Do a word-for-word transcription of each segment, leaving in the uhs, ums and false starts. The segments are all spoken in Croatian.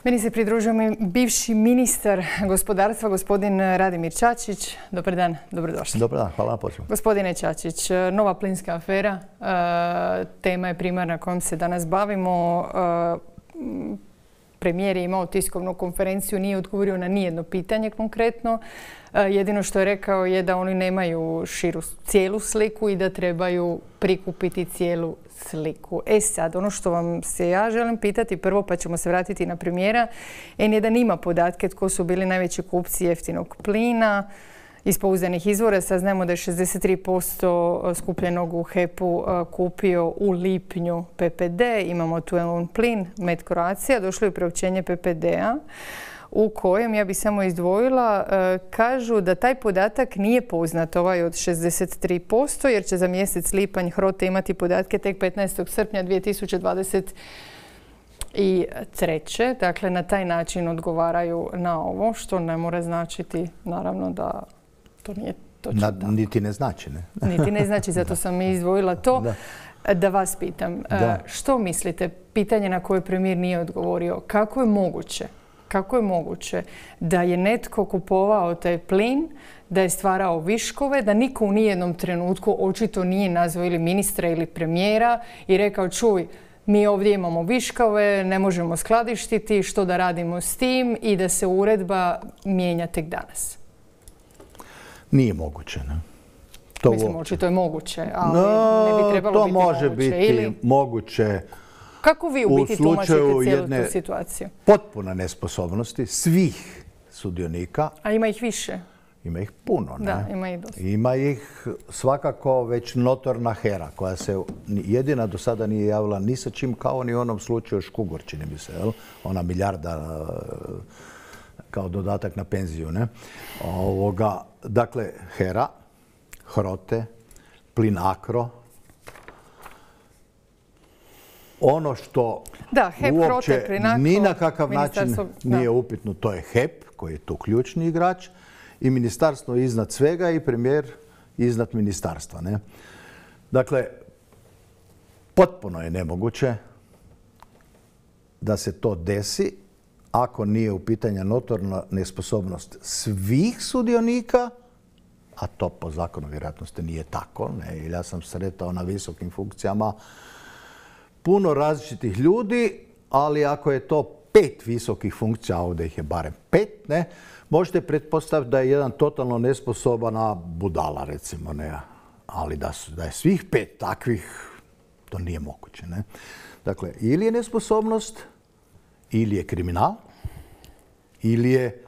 Meni se pridružio bivši ministar gospodarstva, gospodin Radimir Čačić. Dobar dan, dobrodošli. Dobar dan, hvala na pozivu. Gospodine Čačić, nova plinska afera, tema je primarna kojom se danas bavimo. Premijer je imao tiskovnu konferenciju, nije odgovorio na nijedno pitanje konkretno. Jedino što je rekao je da oni nemaju širu cijelu sliku i da trebaju prikupiti cijelu sliku. E sad, ono što vam se ja želim pitati prvo, pa ćemo se vratiti na premijera. en jedan ima podatke tko su bili najveći kupci jeftinog plina. Iz pouzdanih izvora saznajemo da je šezdeset tri posto skupljenog u H E P-u kupio u lipnju P P D. Imamo tu jedan plin, Med Croatia. Došlo je priopćenje P P D-a u kojem, ja bih samo izdvojila, kažu da taj podatak nije poznat, ovaj od šezdeset tri posto, jer će za mjesec lipanj HROTE imati podatke tek petnaestog srpnja dvije tisuće dvadeset treće. Dakle, na taj način odgovaraju na ovo, što ne mora značiti, naravno, da to nije točno. Na, niti ne znači, ne? Niti ne znači, zato sam i izdvojila to. Da. Da vas pitam, da. Što mislite, pitanje na koje premijer nije odgovorio, kako je moguće Kako je moguće da je netko kupovao taj plin, da je stvarao viškove, da niko u nijednom trenutku očito nije nazvao ili ministra ili premijera i rekao čuj, mi ovdje imamo viškove, ne možemo skladištiti, što da radimo s tim i da se uredba mijenja tek danas? Nije moguće, ne? To Mislim, očito je moguće, ali no, ne bi trebalo to biti može moguće. biti ili... moguće. Kako vi u biti tumačite cijelu tu situaciju? Potpuna nesposobnosti svih sudionika. A ima ih više? Ima ih puno, ne? Da, ima ih dosta. Ima ih svakako već notorna HERA, koja se jedina do sada nije javila ni sa čim, kao ni u onom slučaju Škugor, čini mi se, jel? Ona milijarda kao dodatak na penziju, ne? Ovoga, dakle, HERA, HROTE, Plinacro. Ono što da, H E P, uopće HROTE, Plinacro, ni na kakav način nije da. upitno, to je H E P koji je tu ključni igrač i ministarstvo iznad svega i premijer iznad ministarstva. Ne? Dakle, potpuno je nemoguće da se to desi ako nije u pitanju notorna nesposobnost svih sudionika, a to po zakonu vjerojatnosti nije tako. Ne? Jer ja sam sretao na visokim funkcijama puno različitih ljudi, ali ako je to pet visokih funkcija, a ovdje ih je barem pet, ne, možete pretpostaviti da je jedan totalno nesposobana budala, recimo, ne, ali da, su, da je svih pet takvih, to nije moguće. Ne. Dakle, ili je nesposobnost, ili je kriminal, ili je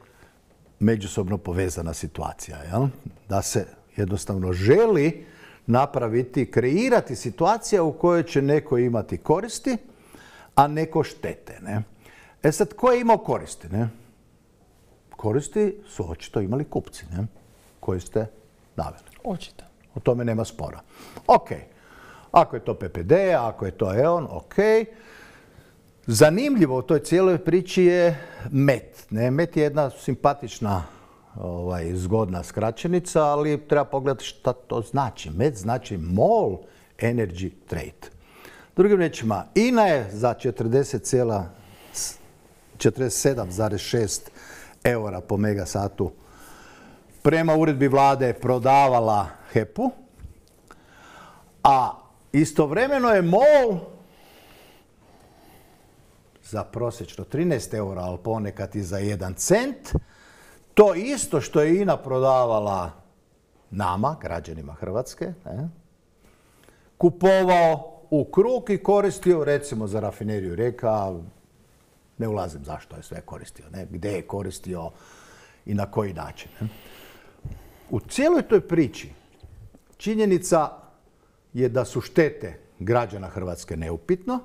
međusobno povezana situacija. Jel? Da se jednostavno želi napraviti, kreirati situacija u kojoj će neko imati koristi, a neko štete. Ne? E sad, ko je imao koristi? Ne? Koristi su očito imali kupci, ne? Koji ste naveli. Očito. O tome nema spora. Ok. Ako je to P P D, ako je to E O N, ok. Zanimljivo u toj cijeloj priči je M E T. Ne? M E T je jedna simpatična Ovaj, zgodna skraćenica, ali treba pogledati šta to znači. M E T znači MOL Energy Trade. Drugim riječima, I N A je za četrdeset sedam zarez šest eura po megasatu prema uredbi vlade prodavala H E P-u, a istovremeno je MOL za prosječno trinaest eura, ali ponekad i za jedan cent, to isto što je I N A prodavala nama, građanima Hrvatske, ne, kupovao u krug i koristio, recimo za rafineriju Rijeka, ne ulazim zašto je sve koristio, ne, gdje je koristio i na koji način. Ne. U cijeloj toj priči činjenica je da su štete građana Hrvatske neupitno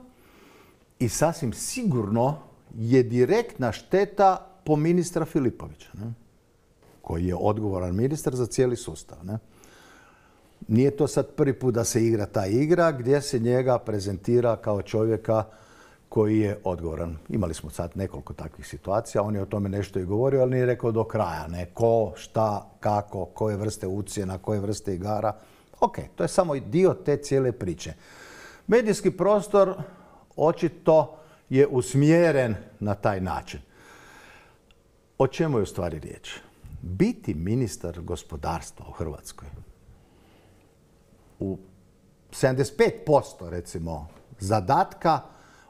i sasvim sigurno je direktna šteta po ministra Filipovića, ne? Koji je odgovoran ministar za cijeli sustav. Ne? Nije to sad prvi put da se igra ta igra gdje se njega prezentira kao čovjeka koji je odgovoran. Imali smo sad nekoliko takvih situacija, on je o tome nešto i govorio, ali nije rekao do kraja. Ne? Ko, šta, kako, koje vrste ucjena, koje vrste igara. Ok, to je samo dio te cijele priče. Medijski prostor očito je usmjeren na taj način. O čemu je u stvari riječ? Biti ministar gospodarstva u Hrvatskoj u sedamdeset pet posto recimo zadatka,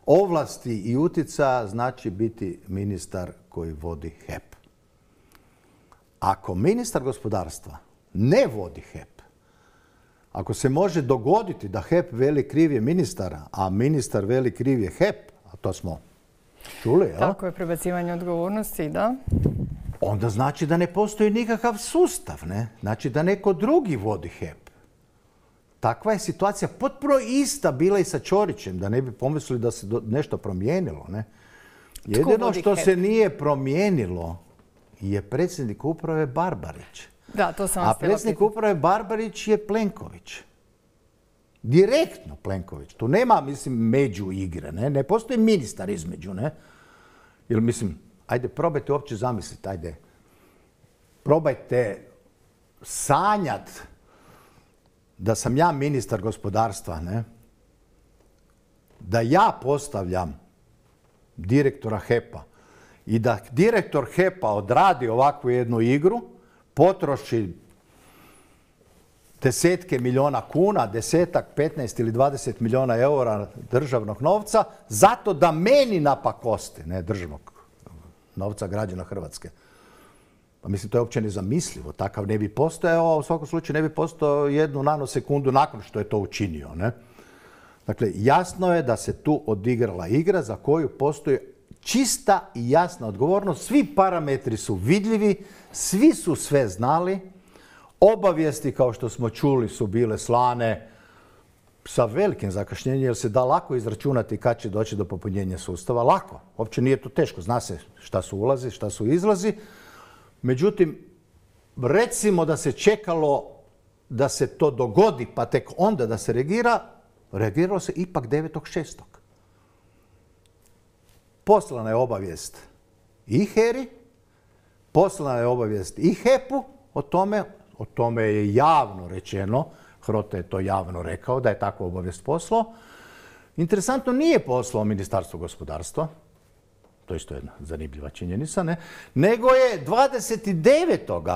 ovlasti i utjecaja znači biti ministar koji vodi H E P. Ako ministar gospodarstva ne vodi H E P, ako se može dogoditi da H E P veli kriv je ministara, a ministar veli kriv je H E P, a to smo čuli, jel? Tako je, prebacivanje odgovornosti, da. Onda znači da ne postoji nikakav sustav, ne? Znači da neko drugi vodi H E P. Takva je situacija potpuno ista bila i sa Ćorićem, da ne bi pomislili da se nešto promijenilo, ne? Jedino što se nije promijenilo je predsjednik uprave Barbarić. Da, to sam vas A predsjednik uprave Barbarić je Plenković. Direktno Plenković. Tu nema, mislim, među igre, ne? Ne postoji ministar između, ne? Jer, mislim, ajde, probajte uopće zamisliti, ajde. Probajte sanjat da sam ja ministar gospodarstva, ne? Da ja postavljam direktora H E P-a i da direktor H E P-a odradi ovakvu jednu igru, potroši desetke milijuna kuna, desetak, petnaest ili dvadeset milijuna eura državnog novca, zato da meni napakosti, ne državnog novca građana Hrvatske. Pa mislim, to je uopće nezamislivo. Takav ne bi postojao, a u svakom slučaju ne bi postojao jednu nanosekundu nakon što je to učinio, ne? Dakle, jasno je da se tu odigrala igra za koju postoji čista i jasna odgovornost. Svi parametri su vidljivi, svi su sve znali. Obavijesti, kao što smo čuli, su bile slane sa velikim zakašnjenjem, jer se da lako izračunati kad će doći do popunjenja sustava. Lako. Uopće nije to teško. Zna se šta su ulazi, šta su izlazi. Međutim, recimo da se čekalo da se to dogodi, pa tek onda da se reagira, reagiralo se ipak devetog šestog Poslana je obavijest i H E R I, poslana je obavijest i H E P-u o tome, o tome je javno rečeno, Hrote je to javno rekao, da je takvu obavijest poslao. Interesantno, nije poslao Ministarstvo gospodarstva, to je isto jedna zanimljiva činjenica, ne? Nego je dvadeset devetog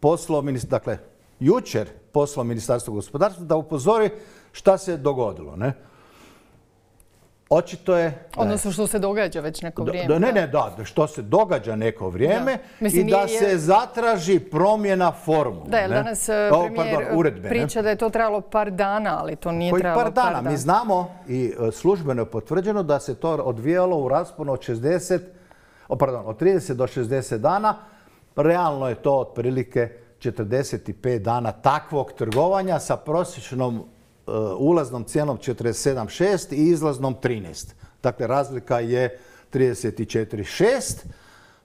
poslao, dakle, jučer poslao Ministarstvo gospodarstva da upozori šta se dogodilo, ne? Očito je... Odnosno što se događa već neko vrijeme. Da, ne, ne, da, što se događa neko vrijeme i da se zatraži promjena formule. Da, jer danas premijer priča da je to trebalo par dana, ali to nije trebalo par dana. par dana. Mi znamo i službeno je potvrđeno da se to odvijalo u rasponu od šezdeset, pardon, od trideset do šezdeset dana. Realno je to otprilike četrdeset pet dana takvog trgovanja sa prosječnom ulaznom cijenom četrdeset sedam zarez šest i izlaznom trinaest. Dakle, razlika je trideset četiri zarez šest.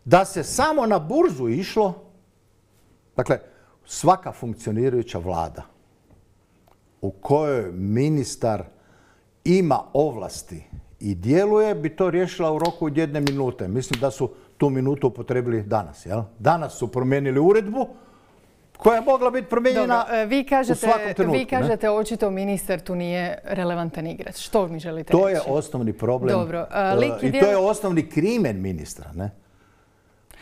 Da se samo na burzu išlo, dakle, svaka funkcionirajuća vlada u kojoj ministar ima ovlasti i djeluje, bi to riješila u roku od jedne minute. Mislim da su tu minutu upotrebili danas, jel? Danas su promijenili uredbu koja je mogla biti promijenjena vi kažete, u svakom trenutku. Vi kažete ne? Očito ministar tu nije relevantan igrač. Što mi želite to reći? To je osnovni problem. Dobro. Uh, I to je osnovni krimen ministra. Ne?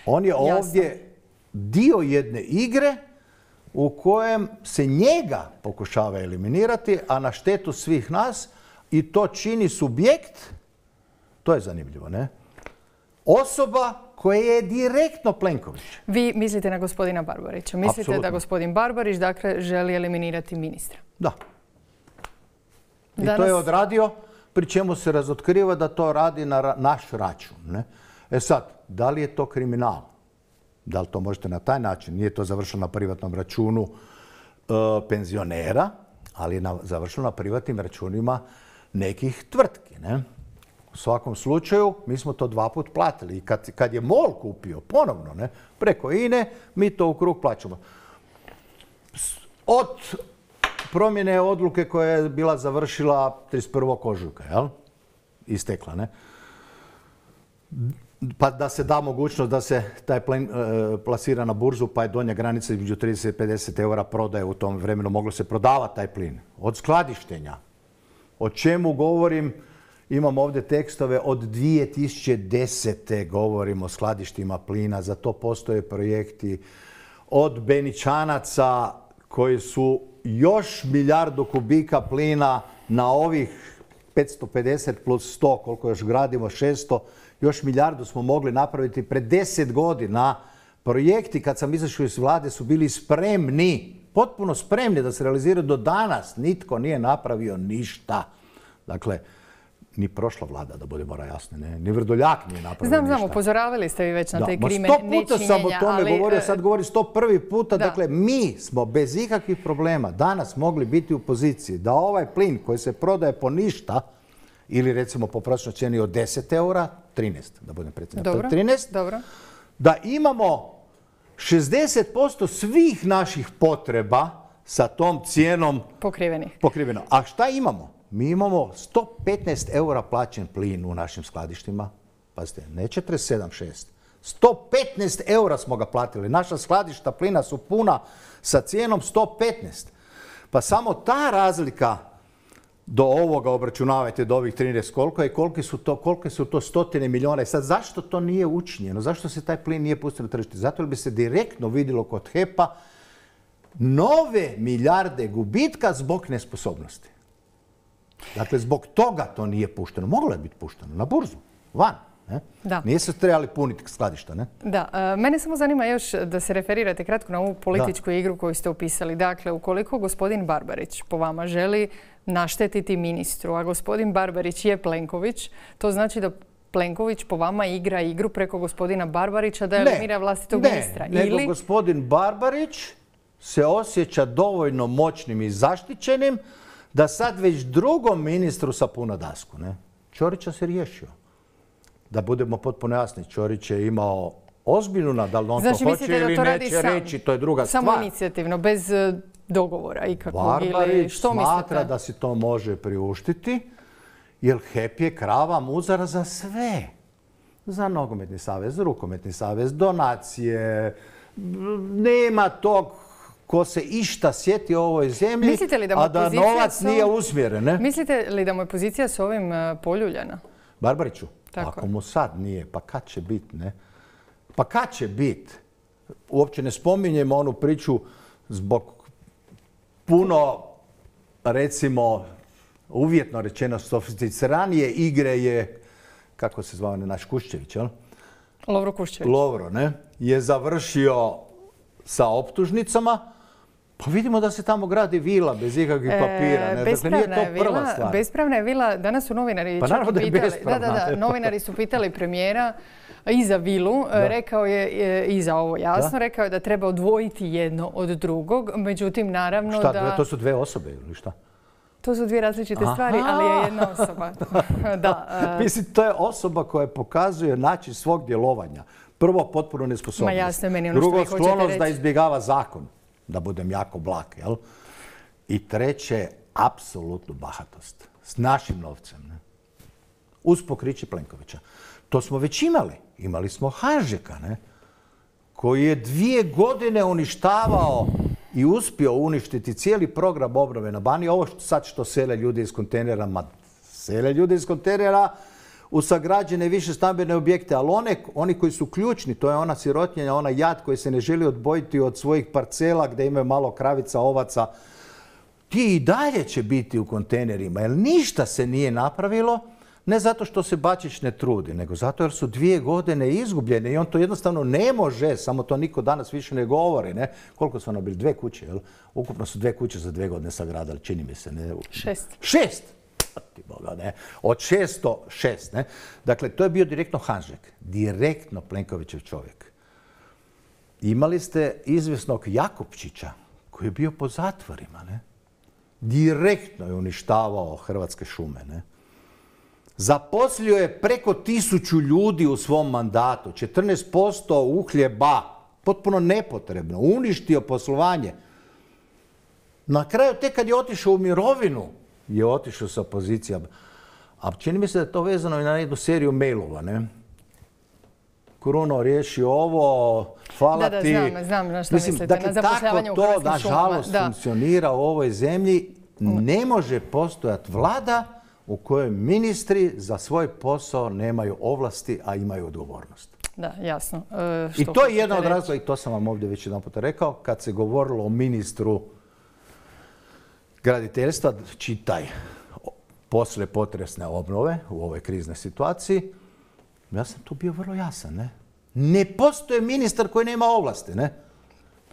On je Jasno. ovdje dio jedne igre u kojem se njega pokušava eliminirati, a na štetu svih nas, i to čini subjekt, to je zanimljivo, ne? Osoba koje je direktno Plenković. Vi mislite na gospodina Barbarića. Mislite Absolutno. Da gospodin Barbarić dakle želi eliminirati ministra. Da. I Danas... to je odradio, pri čemu se razotkriva da to radi na naš račun. Ne? E sad, da li je to kriminal? Da li to možete na taj način? Nije to završilo na privatnom računu e, penzionera, ali je na, završilo na privatnim računima nekih tvrtki. Ne? U svakom slučaju, mi smo to dva put platili. I kad, kad je MOL kupio ponovno, ne, preko I N E, mi to u krug plaćamo. Od promjene odluke koja je bila završila trideset prvog ožujka, jel? Istekla, ne? Pa da se da mogućnost da se taj plen e, plasira na burzu, pa je donja granica između trideset i pedeset eura prodaje u tom vremenu. Moglo se prodavati taj plin. Od skladištenja. O čemu govorim Imam ovdje tekstove od dvije tisuće desete. govorimo o skladištima plina, za to postoje projekti. Od Beničanaca koji su još milijardu kubika plina na ovih petsto pedeset plus sto, koliko još gradimo, šesto, još milijardu smo mogli napraviti pred deset godina. Projekti kad sam izašao iz vlade su bili spremni, potpuno spremni da se realiziraju. Do danas nitko nije napravio ništa. Dakle, ni prošla vlada, da budemo jasni, ne? Ni Vrdoljak nije napravio znam, ništa. Znam, upozoravali ste vi već na te krime nečinjenja. Sto puta sam o tome ali, govorio, sad govori sto prvi puta. Da. Dakle, mi smo bez ikakvih problema danas mogli biti u poziciji da ovaj plin koji se prodaje po ništa, ili recimo po prosječnoj cijeni od deset eura, trinaest, da budem precizan. Dobro, trinaest, dobro. Da imamo šezdeset posto svih naših potreba sa tom cijenom pokrivenih. Pokriveno. A šta imamo? Mi imamo sto petnaest eura plaćen plin u našim skladištima. Pazite, ne četrdeset sedam, šest. sto petnaest eura smo ga platili. Naša skladišta plina su puna sa cijenom sto petnaest. Pa samo ta razlika do ovoga obračunavajte, do ovih trinaest koliko je, kolike su to, kolike su to stotine milijuna. I sad zašto to nije učinjeno? Zašto se taj plin nije pustio na tržište? Zato jer bi se direktno vidjelo kod H E P-a nove milijarde gubitka zbog nesposobnosti. Dakle, zbog toga to nije pušteno. Moglo je biti pušteno na burzu, van. Ne? Da. Nije se trebali puniti skladišta, ne? Da. E, mene samo zanima još da se referirate kratko na ovu političku da. igru koju ste opisali. Dakle, ukoliko gospodin Barbarić po vama želi naštetiti ministru, a gospodin Barbarić je Plenković, to znači da Plenković po vama igra igru preko gospodina Barbarića da eliminira vlastitog ne, ministra. Ne, nego Ili... gospodin Barbarić se osjeća dovoljno moćnim i zaštićenim da sad već drugom ministru sapuna dasku. Ne? Ćorića se riješio. Da budemo potpuno jasni, Ćorić je imao ozbiljnu, da li on znači, to hoće ili to neće sam, reći, to je druga samo stvar. Samo inicijativno, bez dogovora ikakvog. Barbarić ili što smatra mislite? da si to može priuštiti, jer H E P je krava muzara za sve. Za nogometni savez, rukometni savez, donacije, nema tog ko se išta sjeti o ovoj zemlji, da a da novac nije usmjeren. Ne? Mislite li da mu je pozicija s ovim poljuljana? Barbariću? Tako. Ako mu sad nije, pa kad će biti, ne? Pa kad će biti? Uopće ne spominjemo onu priču zbog puno, recimo, uvjetno rečeno, sofisticiranije igre je, kako se zvao naš Kuščević, jel? Lovro Kuščević. Lovro, ne? Je završio sa optužnicama. Pa vidimo da se tamo gradi vila bez ikakvih papira. Ne? Bespravna dakle, nije to je prva vila, stvar. Bespravna je vila. Danas su novinari pa čak naravno da je pitali. bespravna. Da, da, da. Novinari su pitali premijera i za vilu. Da. Rekao je i za ovo jasno. Da. Rekao je da treba odvojiti jedno od drugog. Međutim, naravno šta, da... To su dve osobe ili šta? To su dvije različite Aha. stvari, ali je jedna osoba. da, uh... Mislim, to je osoba koja pokazuje način svog djelovanja. Prvo, potpuno nesposobnost. Ma jasno je meni ono Drugo, što vi hoćete sklonost reći. da izbjegava zakon. Da budem jako blag, jel? I treće, apsolutnu bahatost. S našim novcem, ne? Uz pokriće Plenkovića. To smo već imali. Imali smo Hanžeka, ne? Koji je dvije godine uništavao i uspio uništiti cijeli program obnove na Baniji. Ovo što sad što sele ljudi iz kontejnera, ma sele ljudi iz kontejnera u sagrađene više stambene objekte, ali one, oni koji su ključni, to je ona sirotinja, ona jad koji se ne želi odbojiti od svojih parcela gdje imaju malo kravica, ovaca, ti i dalje će biti u kontejnerima, jer ništa se nije napravilo, ne zato što se Bačić ne trudi, nego zato jer su dvije godine izgubljene i on to jednostavno ne može, samo to niko danas više ne govori. Ne? Koliko su ono bili? Dve kuće, jel? Ukupno su dve kuće za dve godine sagradili, čini mi se. Ne? Šest. Šest! Boga, ne? Od šesto šest. Ne? Dakle, to je bio direktno Hanžek, direktno Plenkovićev čovjek. Imali ste izvjesnog Jakupčića koji je bio po zatvorima. Ne? Direktno je uništavao Hrvatske šume. Ne? Zaposlio je preko tisuću ljudi u svom mandatu, četrnaest posto uhljeba, potpuno nepotrebno, uništio poslovanje. Na kraju, tek kad je otišao u mirovinu, je otišao sa pozicija. A čini mi se da je to vezano i na jednu seriju mailova, ne? Kruno, riješi ovo, hvala da, da, ti. Da, znam, znam na što Mislim, mislite, dakle, na zapošljavanje u Hrvatskim šumama. Tako to, nažalost, funkcionira u ovoj zemlji. Ne može postojati vlada u kojoj ministri za svoj posao nemaju ovlasti, a imaju odgovornost. Da, jasno. E, I to je jedna od razloga, i to sam vam ovdje već jedan puta rekao, kad se govorilo o ministru graditeljstva, čitaj poslije potresne obnove u ovoj kriznoj situaciji, ja sam tu bio vrlo jasan. Ne, ne postoji ministar koji nema ovlasti. Ne?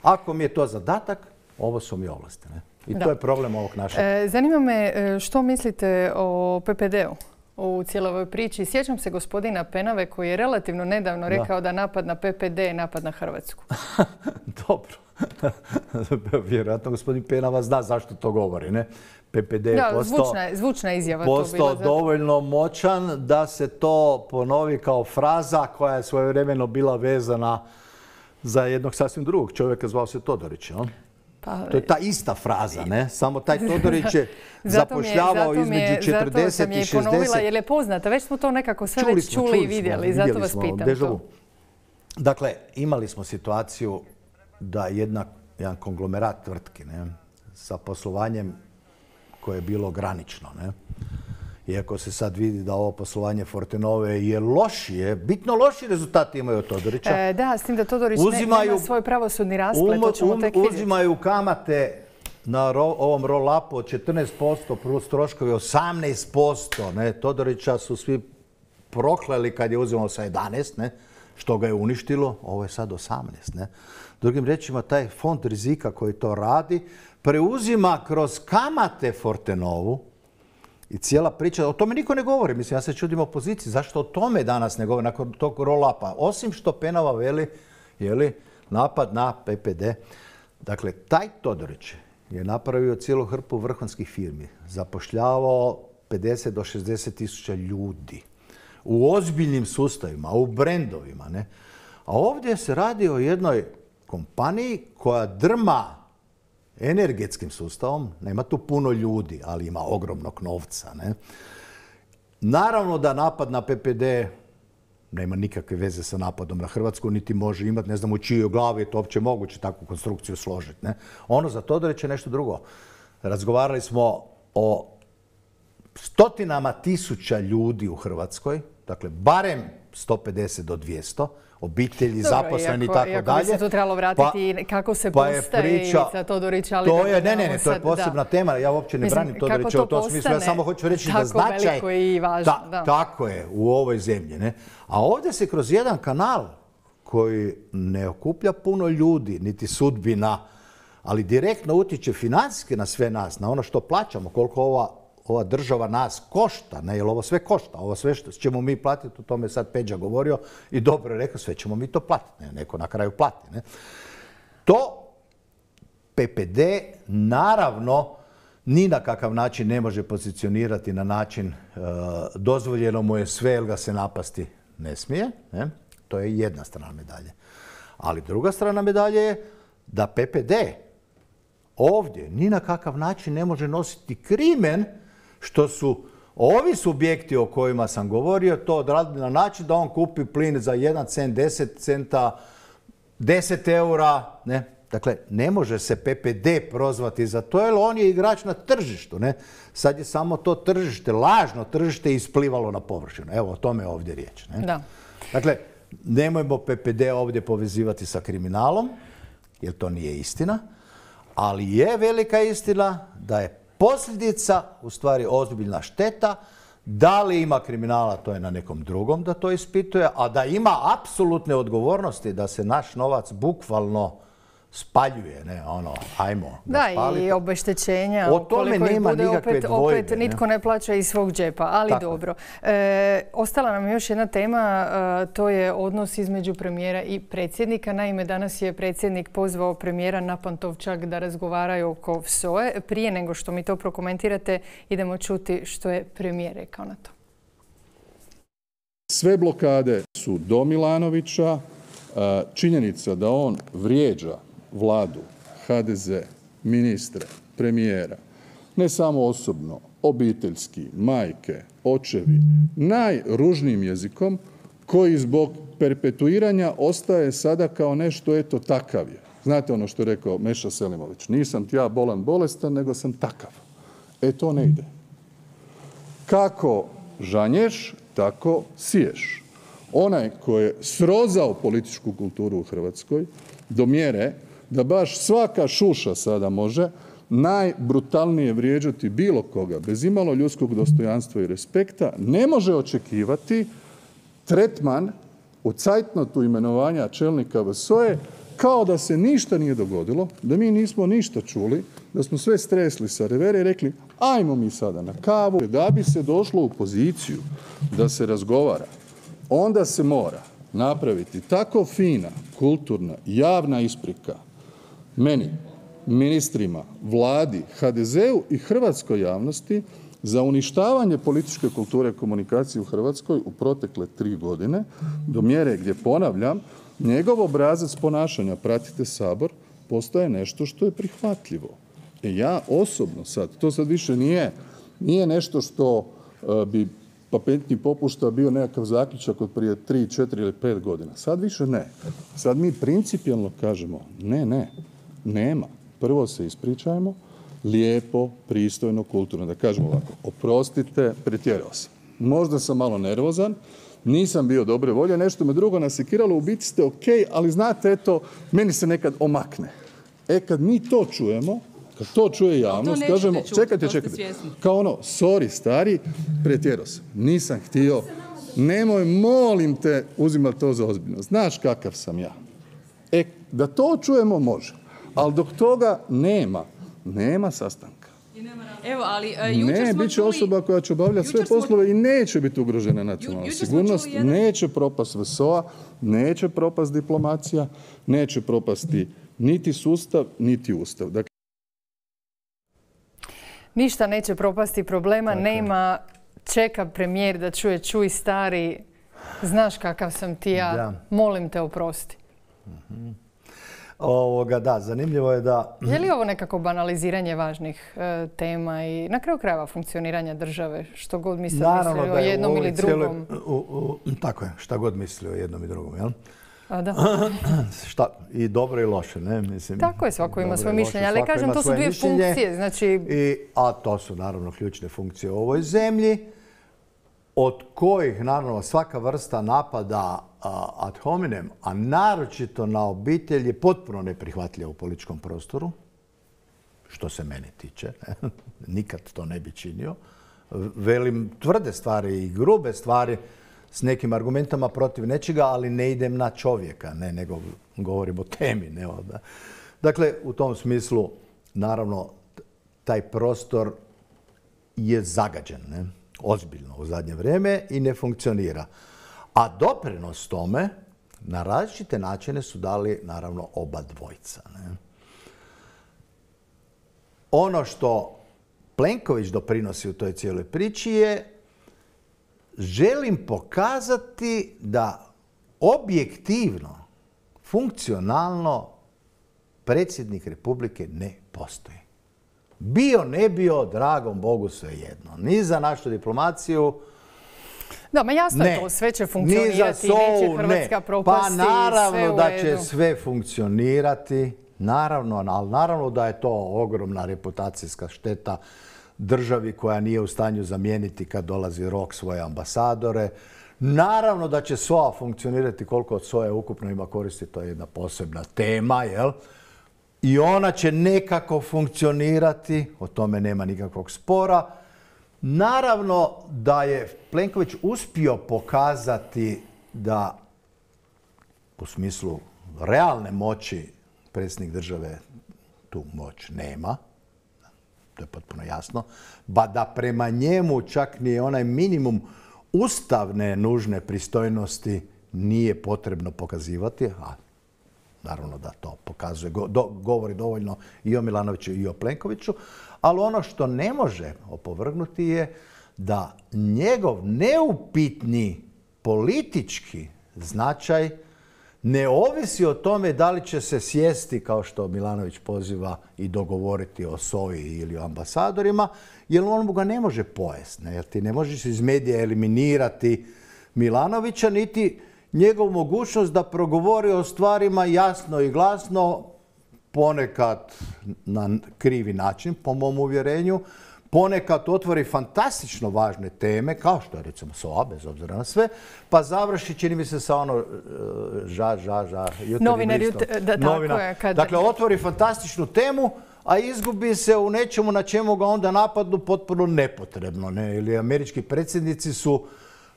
Ako mi je to zadatak, ovo su mi ovlasti. Ne? I da. To je problem ovog našeg. E, zanima me što mislite o P P D-u u cijeloj ovoj priči. Sjećam se gospodina Penave koji je relativno nedavno rekao da, da napad na P P D je napad na Hrvatsku. Dobro. Vjerojatno gospodin Penava zna zašto to govori. Ne? P P D je da, postao, zvučna, zvučna izjava postao to dovoljno moćan da se to ponovi kao fraza koja je svojevremeno bila vezana za jednog sasvim drugog čovjeka, zvao se Todorić. No? Pa, to je ta ista fraza, ne? Samo taj Todorić je zapošljavao je, između četrdeset i šezdeset. Zato sam je i ponovila jer je poznata. Već smo to nekako sve čuli već čuli, čuli i vidjeli. Smo, zato vas pitam to. Dakle, imali smo situaciju da jedna, jedan konglomerat tvrtki, ne, sa poslovanjem koje je bilo granično. Ne? Iako se sad vidi da ovo poslovanje Fortenove je lošije, bitno loši rezultati imaju od Todorića. E, da, s tim da Todorić uzimaju, nema svoj pravosudni rasplet, to ćemo um, tek vidjeti. Uzimaju kamate na ro, ovom roll-upu od četrnaest posto plus troškovi osamnaest posto. Ne? Todorića su svi prokleli kad je uzimao sa jedanaest, ne? Što ga je uništilo, ovo je sad osamnaest. Ne? Drugim rečima, taj fond rizika koji to radi preuzima kroz kamate Fortenovu i cijela priča, o tome niko ne govori. Mislim, ja se čudim opoziciji, zašto o tome danas ne govori nakon tog roll-upa? Osim što Penava veli, jeli, napad na P P D. Dakle, taj Todorić je napravio cijelu hrpu vrhunskih firmi, zapošljavao pedeset do šezdeset tisuća ljudi u ozbiljnim sustavima, u brendovima. Ne? A ovdje se radi o jednoj kompaniji koja drma energetskim sustavom, nema tu puno ljudi, ali ima ogromnog novca. Ne? Naravno da napad na P P D nema nikakve veze sa napadom na Hrvatsku, niti može imati, ne znam u čijoj glavi je to uopće moguće takvu konstrukciju složiti. Ne? Ono za Todorić je nešto drugo. Razgovarali smo o stotinama tisuća ljudi u Hrvatskoj, dakle barem sto pedeset do dvjesto, obitelji, dobro, zaposleni i tako dalje. Iako bi se tu trebalo vratiti pa, kako se pa postaje Ivica Todorić, ali to je, ne, ne, ne, to je posebna da. tema. Ja uopće ne Mislim, branim Todorića u tom smislu. Ja samo hoću reći da značaj i važno, ta, da. tako je u ovoj zemlji. Ne? A ovdje se kroz jedan kanal koji ne okuplja puno ljudi, niti sudbina, ali direktno utječe financijski na sve nas, na ono što plaćamo, koliko ova ova država nas košta, ne, jer ovo sve košta, ovo sve što ćemo mi platiti, o tome sad Peđa govorio i dobro je rekao, sve ćemo mi to platiti, ne, neko na kraju plati. Ne. To P P D naravno ni na kakav način ne može pozicionirati na način uh, dozvoljeno mu je sve, jer ga se napasti ne smije. Ne. To je jedna strana medalje. Ali druga strana medalje je da P P D ovdje ni na kakav način ne može nositi krimen što su ovi subjekti o kojima sam govorio to odradili na način da on kupi plin za jedan cent, deset centa, deset eura. Ne? Dakle, ne može se P P D prozvati za to, jer on je igrač na tržištu. Ne? Sad je samo to tržište, lažno tržište, isplivalo na površinu. Evo, o tome je ovdje riječ. Ne? Da. Dakle, nemojmo P P D ovdje povezivati sa kriminalom, jer to nije istina. Ali je velika istina da je posljedica u stvari ozbiljna šteta. Da li ima kriminala, to je na nekom drugom da to ispituje, a da ima apsolutne odgovornosti da se naš novac bukvalno spaljuje, ne, ono, ajmo. Da, i obeštećenja. O tome nema bude, nikakve opet, dvojbe. Opet nitko ne plaća iz svog džepa, ali Tako. dobro. E, ostala nam još jedna tema, a, to je odnos između premijera i predsjednika. Naime, danas je predsjednik pozvao premijera na Pantovčak da razgovaraju oko V S O E. Prije nego što mi to prokomentirate, idemo čuti što je premijer rekao na to. Sve blokade su do Milanovića. Činjenica da on vrijeđa vladu, H D Z, ministre, premijera, ne samo osobno, obiteljski, majke, očevi, najružnijim jezikom koji zbog perpetuiranja ostaje sada kao nešto, eto, takav je. Znate ono što je rekao Meša Selimović, nisam ti ja bolan bolestan, nego sam takav. E, to ne ide. Kako žanješ, tako siješ. Onaj koji je srozao političku kulturu u Hrvatskoj do mjere da baš svaka šuša sada može najbrutalnije vrijeđati bilo koga, bez imalo ljudskog dostojanstva i respekta, ne može očekivati tretman u cajtnotu imenovanja čelnika V S O E kao da se ništa nije dogodilo, da mi nismo ništa čuli, da smo sve stresli sa revere i rekli ajmo mi sada na kavu. Da bi se došlo u poziciju da se razgovara, onda se mora napraviti tako fina, kulturna, javna isprika meni, ministrima, vladi, H D Z U i hrvatskoj javnosti za uništavanje političke kulture komunikacije u Hrvatskoj u protekle tri godine do mjere gdje, ponavljam, njegov obrazac ponašanja, pratite Sabor, postaje nešto što je prihvatljivo. E ja osobno sad, to sad više nije, nije nešto što uh, bi papentni popušta bio nekakav zaključak od prije tri, četiri ili pet godina. Sad više ne. Sad mi principijelno kažemo ne, ne, nema. Prvo se ispričajmo, lijepo, pristojno, kulturno. Da kažemo ovako, oprostite, pretjerao sam. Možda sam malo nervozan, nisam bio dobre volje, nešto me drugo nasekiralo, u biti ste ok, ali znate, eto, meni se nekad omakne. E, kad mi to čujemo, kad to čuje javnost, to kažemo, čuti, čekajte, čekajte, kao ono, sorry, stari, pretjerao sam, nisam htio, nemoj, molim te, uzimaj to za ozbiljno, znaš kakav sam ja. E, da to čujemo može, ali dok toga nema, nema sastanka. Evo, ali uh, jučer ne, smo bit će čuli... osoba koja će obavljati sve poslove smo... i neće biti ugrožena nacionalna sigurnost, jedan... neće propast V S O A, neće propast diplomacija, neće propasti niti sustav, niti ustav. Dakle... Ništa neće propasti, problema dakle. Nema. Čeka premijer da čuje, čuj stari, znaš kakav sam ti ja, da. Molim te oprosti. Mhm. Ovoga, da, zanimljivo je da... Je li ovo nekako banaliziranje važnih e, tema i na kraju krajeva funkcioniranja države, što god misli o jednom ili drugom? Cijele, u, u, tako je, šta god misli o jednom i drugom, jel? A da. Šta, i dobro i loše, ne? Mislim, tako je, svako ima svoje mišljenje, ali kažem, to su dvije mišljenje, funkcije, znači... I, a to su naravno ključne funkcije u ovoj zemlji, od kojih, naravno, svaka vrsta napada ad hominem, a naročito na obitelj, je potpuno neprihvatljiva u političkom prostoru, što se mene tiče. Nikad to ne bi činio. Velim tvrde stvari i grube stvari s nekim argumentama protiv nečega, ali ne idem na čovjeka, ne, nego govorim o temi. Ne, da. Dakle, u tom smislu, naravno, taj prostor je zagađen, ne? Ozbiljno u zadnje vrijeme i ne funkcionira. A doprinos tome na različite načine su dali naravno oba dvojca. Ne? Ono što Plenković doprinosi u toj cijeloj priči je želim pokazati da objektivno, funkcionalno predsjednik Republike ne postoji. Bio, ne bio, dragom Bogu svejedno. Ni za našu diplomaciju. Da, ma jasno je to, sve će funkcionirati, neće Hrvatska propasti. Pa naravno da će sve funkcionirati, naravno, ali naravno da je to ogromna reputacijska šteta državi koja nije u stanju zamijeniti kad dolazi rok svoje ambasadore. Naravno da će S O A funkcionirati, koliko od S O A ukupno ima koristi, to je jedna posebna tema, jel? I ona će nekako funkcionirati, o tome nema nikakvog spora. Naravno da je Plenković uspio pokazati da u smislu realne moći predsjednik države tu moć nema. To je potpuno jasno. Ba da prema njemu čak ni onaj minimum ustavne nužne pristojnosti nije potrebno pokazivati, a naravno da to pokazuje, govori dovoljno i o Milanoviću i o Plenkoviću, ali ono što ne može opovrgnuti je da njegov neupitni politički značaj ne ovisi o tome da li će se sjesti, kao što Milanović poziva, i dogovoriti o S O I ili o ambasadorima, jer on ga ne može pojesti, jer ti ne možeš iz medija eliminirati Milanovića, niti njegovu mogućnost da progovori o stvarima jasno i glasno, ponekad na krivi način, po mom uvjerenju, ponekad otvori fantastično važne teme, kao što je recimo S O A, bez obzira na sve, pa završi, čini mi se, sa ono ža, ža, ža, Novinar, da, tako je. Kad... Dakle, otvori fantastičnu temu, a izgubi se u nečemu na čemu ga onda napadnu potpuno nepotrebno. Ne? Ili američki predsjednici su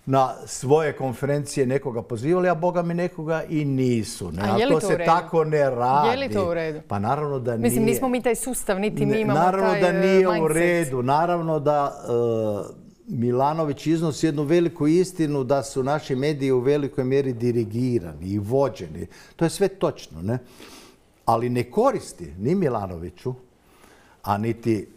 na svoje konferencije nekoga pozivali, a boga mi nekoga i nisu. Ne? A je li to to se u redu? tako ne radi. Je li to u redu? Pa naravno da nije. Mislim, nismo mi taj sustav, niti mi imamo naravno taj da nije mindset. u redu. Naravno da uh, Milanović iznosi jednu veliku istinu da su naši mediji u velikoj mjeri dirigirani i vođeni. To je sve točno, ne? Ali ne koristi ni Milanoviću, a niti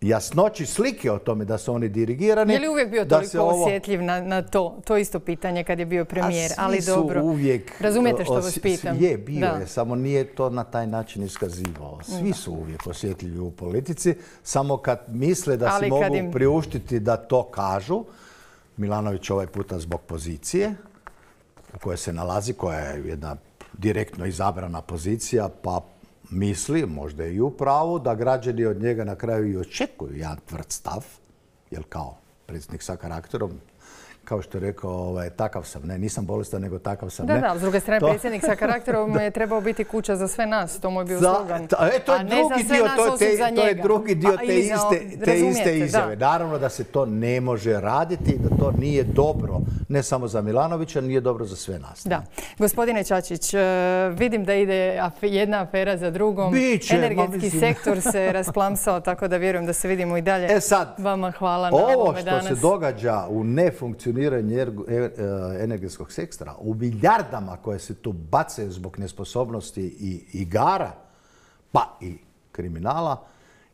jasnoći slike o tome da su oni dirigirani. Je li uvijek bio toliko ovo... osjetljiv na, na to? To isto pitanje kad je bio premijer, ali dobro. Uvijek, razumijete što vas pitam? Je, bio da. je, samo nije to na taj način iskazivao. Svi da. su uvijek osjetljivi u politici, samo kad misle da ali si mogu im... priuštiti da to kažu. Milanović ovaj puta zbog pozicije u kojoj se nalazi, koja je jedna direktno izabrana pozicija, pa misli, možda je i u pravu, da građani od njega na kraju i očekuju jedan tvrd stav, jer kao predsjednik sa karakterom, kao što je rekao, ovaj, takav sam, ne, nisam bolestan, nego takav sam, da, ne. Da, da, s druge strane, to... predsjednik sa karakterom je trebao biti kuća za sve nas, to mu je bio slogan. E, to je drugi dio, to je, te, to je drugi dio te, te iste, te iste izjave. Da. Naravno da se to ne može raditi i da to nije dobro, ne samo za Milanovića, nije dobro za sve nas. Da. Gospodine Čačić, vidim da ide jedna afera za drugom. Biće, energetski sektor se rasplamsao, tako da vjerujem da se vidimo i dalje. E sad, vama hvala na ovome danas. Ovo što se događa u nefunkcioniranju energetskog sektora, u milijardama koje se tu bacaju zbog nesposobnosti i igara, pa i kriminala,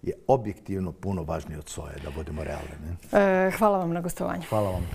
je objektivno puno važnije od soje, da budemo realni. E, hvala vam na gostovanju. Hvala vam.